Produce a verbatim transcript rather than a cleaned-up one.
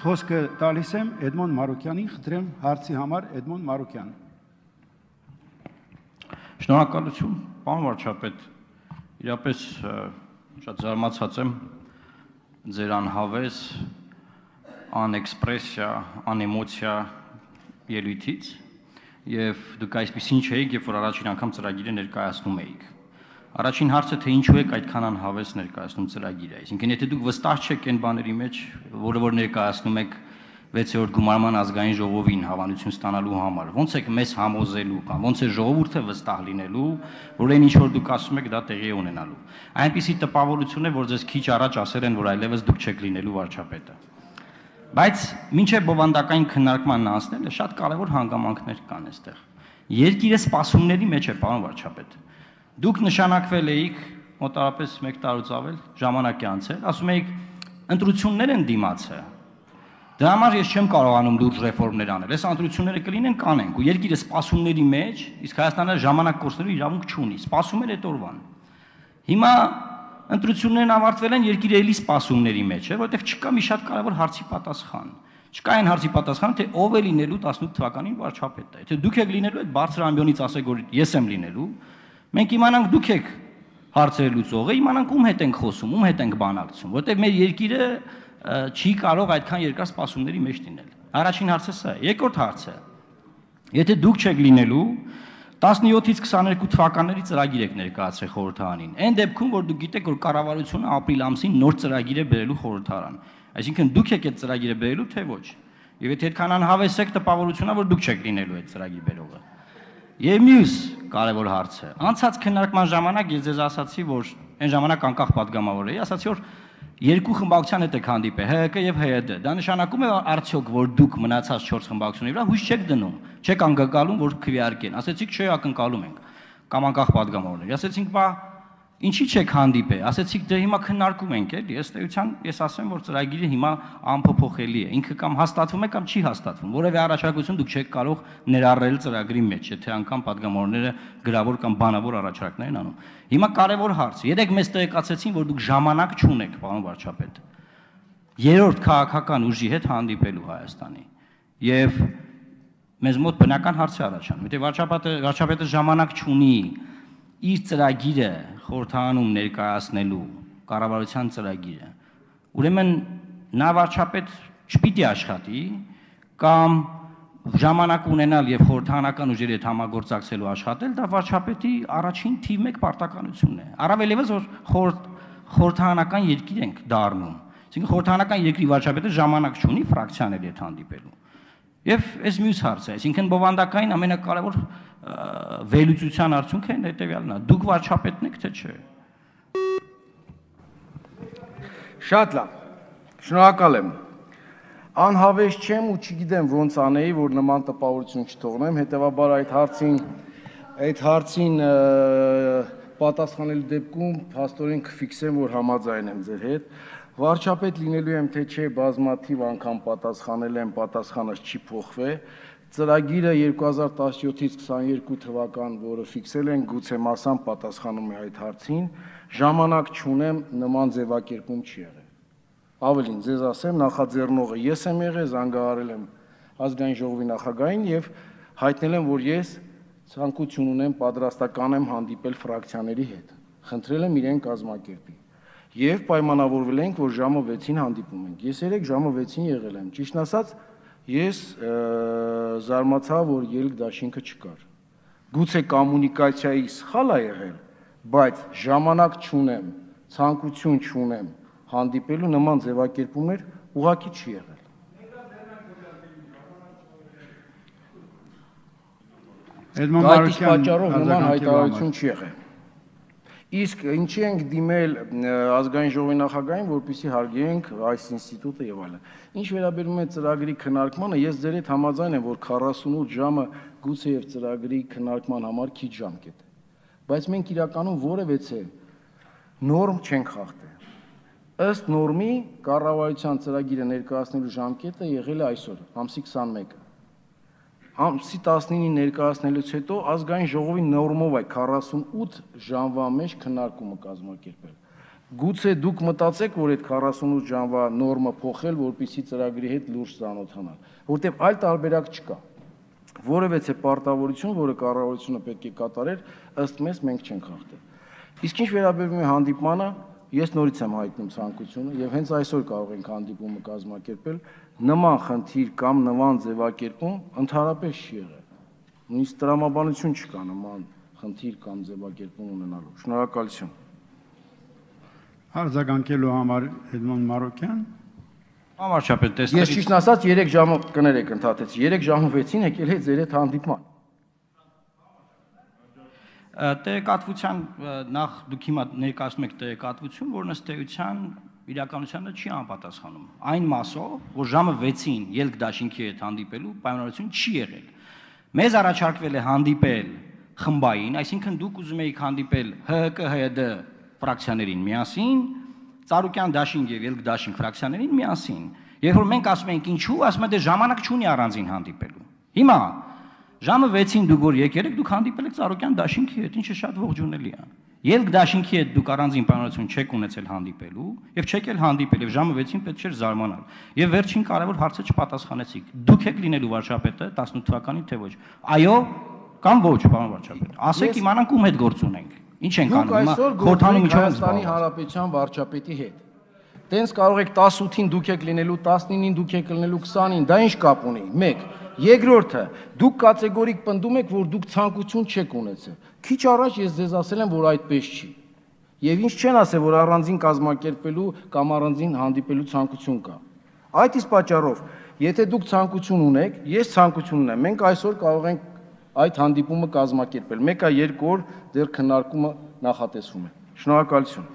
Խոսքը տալիս եմ Էդմոն Մարուկյանին, խնդրեմ հարցի համար Էդմոն Մարուկյան։ Շնորհակալություն, պարոն վարչապետ, իրապես շատ զարմացած եմ ձեր անհավես, անէքսպրեսիա, անէմոցիա ելույթից եւ դուք այսպեսին չէիք, երբ որ առաջին անգամ ծրագիրը ներկայացնում էիք։ Առաջին հարցը թե ինչու եք այդքան անհավես ներկայացնում ծրագիրը, այսինքն եթե դուք վստահ չեք այն բաների մեջ, որը որ ներկայացնում եք վեցերորդ գումարման ազգային ժողովին հավանություն ստանալու համար, ո՞նց եք մեզ համոզելու կամ ո՞նց է ժողովուրդը վստահ լինելու, որ այն ինչ որ դուք ասում եք դա տեղի է ունենալու։ Այնպիսի տպավորություն է, որ ձեզ քիչ առաջ ասել են, որ այլևս դուք չեք լինելու վարչապետը։ Բայց մինչև բովանդակային քննարկմանն անցնելը շատ կարևոր հանգամանքներ կան այստեղ։ Երկիրը սպասումների մեջ է, պարոն վարչապետ։ Դուք նշանակվել էիք մոտավորապես մեկ տարուց ավել ժամանակի անցել, ասում էիք ընտրություններ են դիմացը։ Դրա համար ես չեմ կարողանում լուրջ ռեֆորմներ անել։ Այս ընտրությունները կլինեն, կանենք, ու երկիրը սպասումների մեջ, իսկ Հայաստանը ժամանակ կորցնելու իրավունք չունի։ Սպասում էր այդ օրվան։ Հիմա ընտրություններն ավարտվել են, երկիրը էլի սպասումների մեջ է, որովհետև չկա մի շատ կարևոր հարցի պատասխան։ Չկա այն հարցի պատասխանը, թե ով է լինելու տասնութ թվականին վարչապետը։ Եթե դուք եք լինելու, այդ բարձր ամբիոնից ասեք, որ ես եմ լինելու, մենք իմանանք դուք եք հարցերը լուծողը, իմանանք ում հետ ենք խոսում, ում հետ ենք բանակցում, որովհետև մեր երկիրը չի կարող այդքան երկար սպասումների մեջ լինել։ Առաջին հարցը սա է։ Երկրորդ հարցը, եթե դուք չեք լինելու, տասնյոթից քսաներկու թվականների ծրագիր եք ներկայացրել խորհրդարանին։ Այն դեպքում, որ դուք գիտեք, որ կառավարությունը ապրիլ ամսին նոր ծրագիր է բերելու խորհրդարան։ Այսինքն դուք եք այդ ծրագիրը բերելու, թե ոչ։ Եվ եթե այդքան անհավես եք, տպավորությունն է, որ դուք չեք լինելու այդ ծրագիր բերողը։ Եվ մյուս կարևոր հարցը, անցած քննարկման ժամանակ ես ձեզ ասացի, որ այն ժամանակ անկախ պատգամավոր էի, ասացի, որ երկու խմբակցության հետ եք հանդիպել, Հ Կ եւ Հ Դ։ Դա նշանակում է արդյոք, որ դուք մնացած չորս խմբակցությունների վրա հույս չեք դնում, չեք անկալում, որ քվեարկեն։ Ասեցիք, չէ, ակնկալում ենք կամ անկախ պատգամավորներ։ Ասեցինք, բա ինչի՞ չեք հանդիպել։ Ասեցիք, դե հիմա քննարկում ենք, էլի։ Ըստ էության ես ասեմ, որ ծրագիրը հիմա անփոփոխելի է։ Ինքը կամ հաստատվում է, կամ չի հաստատվում։ Որևէ առաջարկություն դուք չեք կարող ներառել ծրագրի մեջ, եթե անգամ պատգամավորները գրավոր կամ բանավոր առաջարկներ են անում։ Հիմա կարևոր հարց։ Երեք մեզ տեղեկացեցին, որ դուք ժամանակ չունեք, պարոն վարչապետ, երրորդ քաղաքական ուժի հետ հանդիպելու Հայաստանի։ Եվ մեզ մոտ բնական հարց է առաջանում։ Եթե վարչապետը վարչապետը ժամանակ չունի իր ծրագիրը խորհրդարանում ներկայացնելու կառավարության ծրագիրը, ուրեմն նա վարչապետ չպիտի աշխատի կամ ժամանակ ունենալ եւ խորհրդարանական ուժերի հետ համագործակցելու աշխատել, դա վարչապետի առաջին թիվ մեկ պարտականությունն է։ Առավել եւս որ խորհրդարանական երկիր ենք դառնում։ Այսինքն խորհրդարանական երկրի վարչապետը ժամանակ չունի ֆրակցիաների հետ հանդիպելու։ Եվ այս մյուս հարցը, այսինքն բովանդակային ամենակարևոր վերլուծության արդյունքը այն հետևյալն է. դուք վարչապետն եք, թե չէ։ Շատ լավ։ Շնորհակալ եմ։ Անհավես չեմ ու չգիտեմ ոնց անեի, որ նման տպավորություն չթողնեմ, հետևաբար այդ հարցին այդ հարցին պատասխանելու դեպքում փաստորեն կֆիքսեմ, որ համաձայն եմ ձեր հետ։ Վարչապետ լինելու եմ, թե չէ, բազմաթիվ անգամ պատասխանել եմ, պատասխանս չի փոխվել։ Ծրագիրը երկու հազար տասնյոթից քսաներկու թվական, որը ֆիքսել են, գուցե մասամբ պատասխանում է այդ հարցին, ժամանակ չունեմ, նման ձևակերպում չի եղել։ Ավելին, ձեզ ասեմ, նախաձեռնողը ես եմ եղել, զանգահարել եմ ազգային ժողովի նախագահին եւ հայտնել եմ, որ ես ցանկություն ունեմ, պատրաստական եմ հանդիպել ֆրակցիաների հետ։ Խնդրել եմ իրեն կազմակերպի։ Եվ պայմանավորվել ենք, որ ժամը վեցին հանդիպում ենք։ Ես երեք ժամը վեցին եղել եմ։ Ճիշտն ասած, ես զարմացա, որ ելք դաշինքը չկար։ Գուցե կոմունիկացիայի սխալ է եղել, բայց ժամանակ չունեմ, ցանկություն չունեմ հանդիպելու նման ձևակերպումներ ուղղակի չի եղել։ Էդմոն Այդ պատճառով նման հայտարարություն չի եղել։ Իսկ ինչի ենք դիմել ազգային ժողովի նախագահին, որպեսզի հարգենք այս ինստիտուտը եւ այլն։ Ինչ վերաբերում է ծրագրի քննարկմանը, ես ձեր հետ համաձայն եմ, որ քառասունութ ժամը գուցե եւ ծրագրի քննարկման համար քիչ ժամկետ է։ Բայց մենք իրականում որևէ նորմ չենք խախտել։ Ըստ նորմի կառավարության ծրագիրը ներկայացնելու ժամկետը եղել է այսօր, ամսի քսանմեկը։ Ամսի տասնինին ներկայացնելուց հետո ազգային ժողովի նորմով է քառասունութ ժամվա մեջ քննարկումը կազմակերպել։ Գուցե դուք մտածեք, որ այդ քառասունութ ժամվա նորմը փոխել, որպեսզի ծրագրի հետ լուրջ ծանոթանալ, որտեղ այլ տարբերակ չկա։ Որևէ պարտավորություն, որը կառավարությունը պետք է կատարեր, ըստ մեզ մենք չենք խախտել։ Իսկ ինչ վերաբերում է հանդիպմանը, ես նորից եմ հայտնում ցանկությունը եւ հենց այսօր կարող ենք հանդիպումը կազմակերպել, նման խնդիր կամ նման ձևակերպում ընդհանրապես չի եղել։ Նույնիսկ տրամաբանություն չկա նման խնդիր կամ ձևակերպում ունենալու։ Շնորհակալություն։ Արձագանքելու համար Էդմոն Մարոկյան։ Համարչապետ, Ես տեսնելիս ճիշտն ասած երեք ժամը կներեք ընդհատեց, երեք ժամը վեցին եկել է ձեր հետ հանդիպման։ տեղեկատվության նախ դուք հիմա ներկայացնում եք տեղեկատվություն, որն ըստ էության իրականությանը չի անպատասխանում։ Այն մասով, որ ժամը վեցին ելք դաշինքի հետ հանդիպելու պայմանավորություն չի եղել։ Մեզ առաջարկվել է հանդիպել խմբային, այսինքն դուք ուզում եք հանդիպել Հ Հ K H D ֆրակցիաներին միասին, Ծառուկյան դաշինք եւ ելք դաշինք ֆրակցիաներին միասին։ Երբ որ մենք ասում ենք ինչու, ասում են դե ժամանակ չունի առանձին հանդիպելու։ Հիմա ժամը վեցին դուք որ եկել եք, դուք հանդիպել եք Ծառուկյան դաշինքի հետ, ինչը շատ ողջունելի է։ Ելք դաշինքի հետ դուք առանձին պայմանավորություն չեք ունեցել հանդիպելու եւ չեք էլ հանդիպել եւ ժամը վեցին պետք չէր զարմանալ։ Եվ վերջին կարևոր հարցը չպատասխանեցիք։ Դուք եք լինելու վարչապետը տասնութ թվականին թե ոչ։ Այո կամ ոչ, պարոն վարչապետ։ Ասեք իմանանք ում հետ գործ ունենք։ Ինչ ենք անում հիմա խորհրդանում ինչով ենք Հայաստանի Հանրապետության վարչապետի հետ։ Տենց կարող եք տասութին դուք եք լինելու, տասնինին դուք եք լինելու, քսանին, դա ինչ կապ ունի։ մեկ Երկրորդը, դուք կատեգորիկ պնդում եք, որ դուք ցանկություն չեք ունեցել։ Քիչ առաջ ես ձեզ ասել եմ, որ այդպես չի։ Եվ ինչ չեն ասել, որ առանձին կազմակերպելու կամ առանձին հանդիպելու ցանկություն կա։ Այդ իսկ պատճառով, եթե դուք ցանկություն ունեք, ես ցանկություն ունեմ, մենք այսօր կարող ենք այդ հանդիպումը կազմակերպել։ Մեկ այ երկու օր դեռ քննարկումը նախատեսվում է։ Շնորհակալություն։